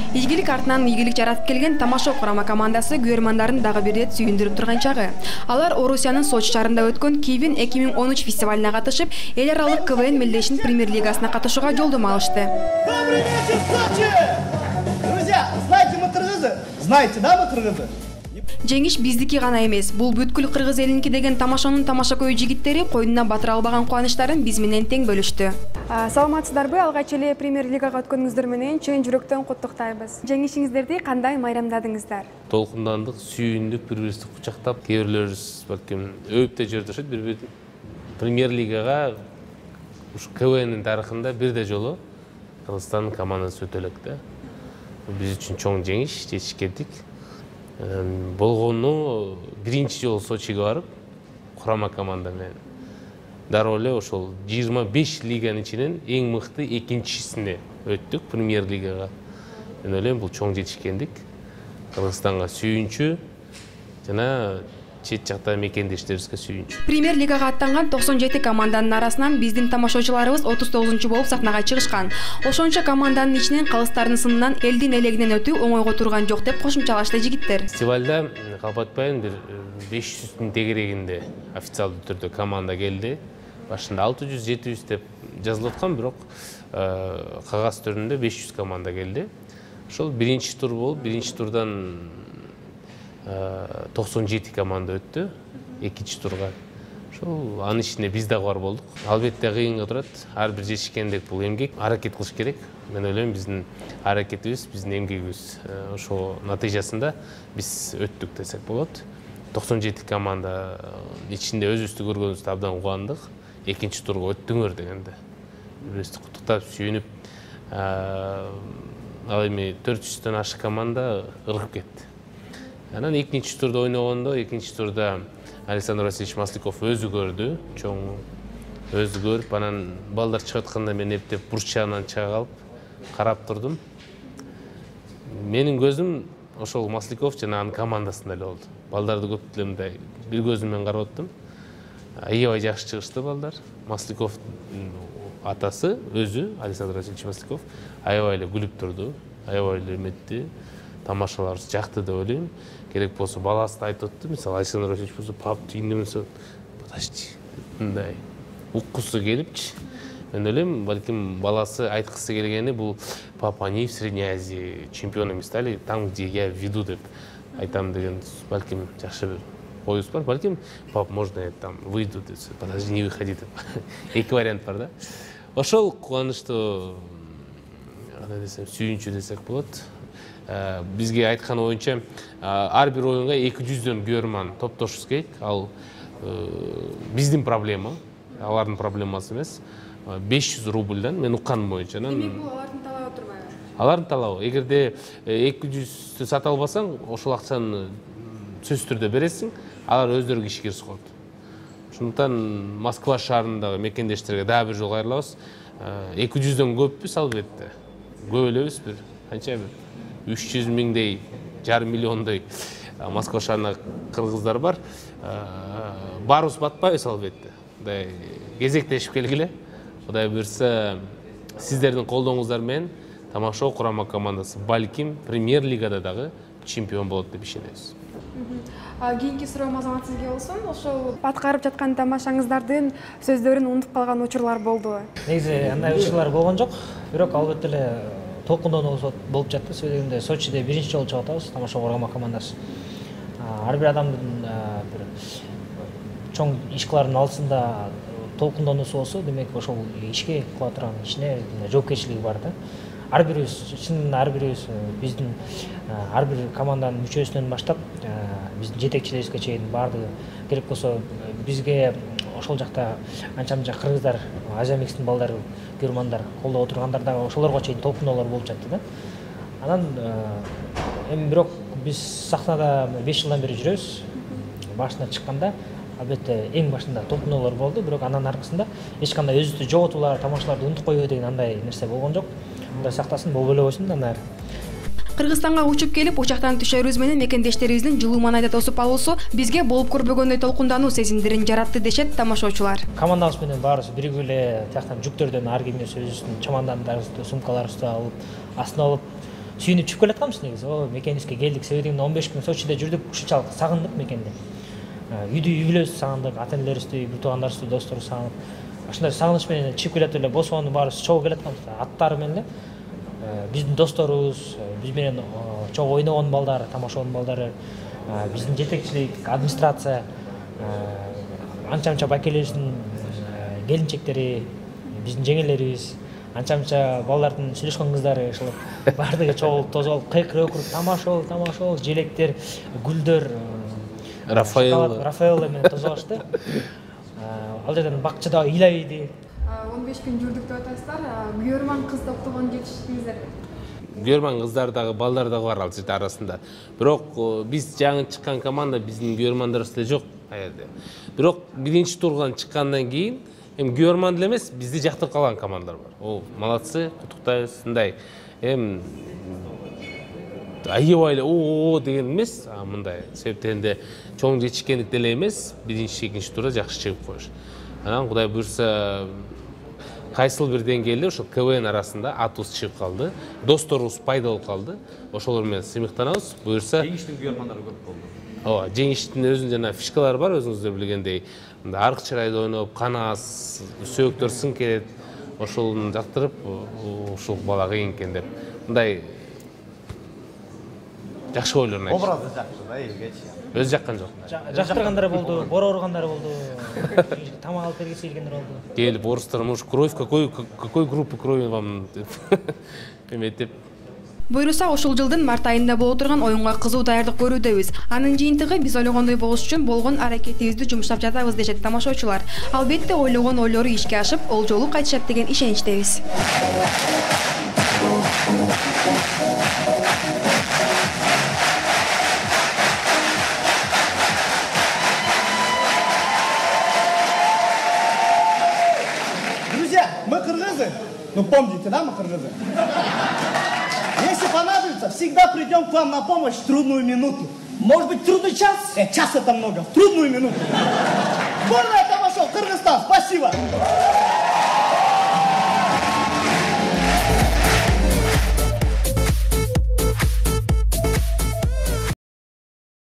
Ийгилик артынан ийгилик жаратып келген Тамашо курама командасы көрөрмандарын дагы бир рет сүйүндүрүп турган чагы. Алар Орусиянын Сочи шаарында өткөн Кивин 2013 фестивалына катышып, эл аралык КВН Мелдешин премьер-лигасына катышууга жолдомо алышты. Добрый вечер, Сочи! Друзья, знаете мы кыргызы? Знаете, да, мы кыргызы? Жеңиш биздики гана эмес, бул бүткүл кыргыз элинки деген Тамашонун тамашакөй жигиттери койнуна батыра албаган кубанычтарын биз менен тең бөлүштү. Саламатсыздарбы? Алгач эле премьер-лигага өткөнүңүздөр менен чын жүрөктөн куттуктайбыз. Жеңишиңиздерди кандай майрамдадыңыздар? Толкундандык, сүйүндүк, бири-бирибизди кучактап, кээ бирлерибиз балким өбүп да жиберишет бири-бирин. Премьер-лигага ушу КВНдин тарыхында бирде жолу Кыргызстандын командасы өтө элек да. Биз үчүн чоң жеңиш, жетишкендик. Болгону биринчи жолу Сочиге барып, курама команда менен дароо эле ошол 25 лиганын ичинен эң мыкты экинчисине өттүк премьер-лигага. Мен ойлойм, бул чоң жетишкендик. Кыргызстанга сүйүнчү жана чет жакта мекендештерибизге сүйүнчү. Премьер-лигага аттанган 97 команданын арасынан биздин тамашачыларыбыз 39-чу болуп сахнага чыгышкан. Ошончо команданын ичинен калыстардын сынынан элдин элегинен өтүү оңойго турган жок деп кошумчалашты жигиттер. Фестивалда калпатпайын бир 500-тün тегерегинде официалдуу түрдө команда келди. Башында 600-700 деп жазылып аткан, бирок кагаз түрүндө 500 команда келди. Ошол биринчи тур болуп, биринчи турдан 97 команда өттү, экинчи турга. Ошол анын ичинде биз дагы бар болдук. Албетте кыйынга турат. Ар бир жетишкендик бул эмгек, аракет кылыш керек. Мен ойлойм, биздин аракетибиз, биздин эмгегибиз ошо натыйжасында биз өттүк десек болот. 97 команда ичинде өзүбүздү көргөнүбүздө абдан кубандык. Экинчи турга өттүңөр дегенде бирибизди куттуктап, сүйүнүп, ал эми 400төн ашык команда ыргып кетти. Анан экинчи турда ойногондо, экинчи турда Александр Васильевич Масляков өзү көрдү, чоң өзү көрүп, анан балдар чыгып атканда мен эптеп бурчагынан чыга калып карап турдум. Менин көзүм ошол Масляков жана анын командасында эле болду. Балдарды көп деле мындай бир көзүм менен карап аттым. Аябай жакшы чыгышты балдар. Масляков атасы өзү Александр Васильевич Масляков аябай эле күлүп турду, аябай эле эметти. Тамашаларыбыз жакты деп ойлойм. Керек болсо баласы да айтып атты. Мисалы Александр Васильевич болсо пап тийиндемесе, подожди, мындай уккусу келипчи. Мен ойлойм, балким баласы айткысы келгени бул папа, они в Средней Азии чемпионами стали, там, где я веду деп айтам деген, балким жакшы бир оюбуз бар. Балким пап, можно я там выйду деп, подожди, не выходи деп. Эки вариант бар да. Ошол кубанычтуу, кандай десем, сүйүнчү десек болот. Бизге айткан боюнча ар бир оюнга 200дөн көрөрман топтошубуз керек. Ал биздин проблема, алардын проблемасы эмес. 500 рубльдан мен укканым боюнча. Демек бул алардын талабы турбайбы? Алардын талабы. Эгерде 200 сата албасаң, ошол акчаны сөзсүз түрдө бересиң, алар өздөрү киши кирсип коет. Ошондуктан Москва шаарындагы мекендештерге дагы бир жолу кайрылабыз. 200дөн көппүз албетте. Көп элебиз бир канча бир 300 миңдей, жарым миллиондой Москва шаарында кыргыздар бар. Барыбыз батпайбыз албетте. Мындай кезектешип келгиле. Кудай буйрса, сиздердин колдооңуздар менен Тамашо курама командасы балким премьер-лигада дагы чемпион болот деп ишенебиз. Кийинки суроом азамат сизге болсун. Ошол баткарып жаткан тамашаңыздардын сөздөрүн унутуп калган учурлар болдубу? Негизи андай учурлар болгон жок. Бирок албетте эле толкундонуу болуп жатты. Себебинде Сочиде биринчи жолу чыгып атабыз, Тамашо курама командасы. Ар бир адамдын бир чоң иш кылардын алдысында толкундонуусу болсо, демек ошол ишке кыла турган ишине жоопкерчилиги бар да. Ар бирибиз, чынында ар бирибиз биздин ар бир команданын мүчөсүнөн баштап биздин жетекчилерибизге чейин баардыгы керек болсо бизге ошол жакта анча-мынча кыргыздар, Азиямикстин балдары, көрөрмандар колдоп отургандар дагы ошолорго чейин толкуноолор болуп жатты да. Анан эми бирок биз сахнада 5 жылдан бери жүрөбүз. Башына чыкканда албетте эң башында толкуноолор болду, бирок анын аркасында эч кандай өзүбүздү жоготуулар, тамашаларды унутуп коюу деген андай нерсе болгон жок. Мындай сактасын, болбой эле койсун андан ары. Кыргызстанга учуп келип, учактан түшөрүбүз менен мекендештерибиздин жылуу маанайда тосуп алуусу бизге болуп көрбөгөндөй толкундануу сезимдерин жаратты дешет тамашачылар. Командабыз менен баарыбыз биригип эле тияктан жүктөрдөн ар кимибиз өзүбүздүн чамандандарыбызды, сумкаларыбызды алып, астына алып сүйүнүп чыгып келатканбыз негизи. О, мекенибизге келдик. Себеби 15 күн Сочиде жүрдүк, ушунчалык сагындык мекенди. Үйдү үй бүлөбүздү сагындык, ата энелерибизди, бир туугандарыбызды, досторубузду сагынып. Ушундай сагыныч менен чыгып келатып эле Босоонун баарыбыз чогуу келатканбыз. Аттары менен эле биздин досторубуз, биз менен чогуу ойногон балдар, тамашаган балдары, биздин жетекчилик, администрация, анча-мынча байкелерибиздин келинчектери, биздин жеңелерибиз, анча-мынча балдардын сүйлөшкөн кыздары, ошол баардыгы чогулуп тозолуп, кыйкырып тамашол, желектер, гүлдөр, Рафаэлла менен тозолушту. Ал жерден бакчада ыйлайбыйды. 15 күн жүрдүк деп атасыздар. Күйөрман кыз топтогон жетиштиңиздер. Күйөрман кыздар дагы, балдар дагы бар ал жерде арасында. Бирок биз жаңы чыккан команда биздин күйөрмандарыбыз эле жок аерде. Бирок биринчи турдан чыккандан кийин эми күйөрман эле эмес, бизди жактырып калган командалар бар. О, молодцы, куттуктайбыз. Мындай эми аябай эле о деген эмес, мындай себептен чоң жетишкендик деле эмес, биринчи, экинчи турда жакшы чыгып коюш. Анан Кудай буйрса кайсыл бир деңгээлде ошол КВН арасында атыбыз чыгып калды, досторубуз пайда болуп калды. Ошолор менен сыймыктанабыз. Буйрса Жеңиштин күйөрмандары көп болду. Ооба, жеңиштин өзүнүн жана фишкалары бар, өзүңүздөр билгендей. Мындай арык чырайда ойноп, канаас, сөөктөр сын келет. Ошолун жактырып, ушул бала кыйын экен деп. Мындай жакшы ойлорун айтты. Образы жакшы да, элгечи. Өзү жаккан жок. Жактыргандар болду, бора ургандар болду, тамак алып бергиси келгендер болду. Келип орустар, может, кровь, какой группы крови вам эметип. Буйруса ушул жылдын март айында боло турган оюнга кызуу даярдык көрүүдөбүз. Анын жыйынтыгы биз ойлогондой болуш үчүн болгон аракетибизди жумуштап жатабыз дешет тамашачылар. Албетте ойлогон ойлору ишке ашып, ол жолу кайтышат деген ишеничтебиз. Друзья, мы кыргызы. Ну помните, да, мы кыргызы? Если понадобится, всегда придем к вам на помощь в трудную минуту. Может быть, трудный час? Час это много. В трудную минуту. Сборная Тамашов, Кыргызстан, спасибо!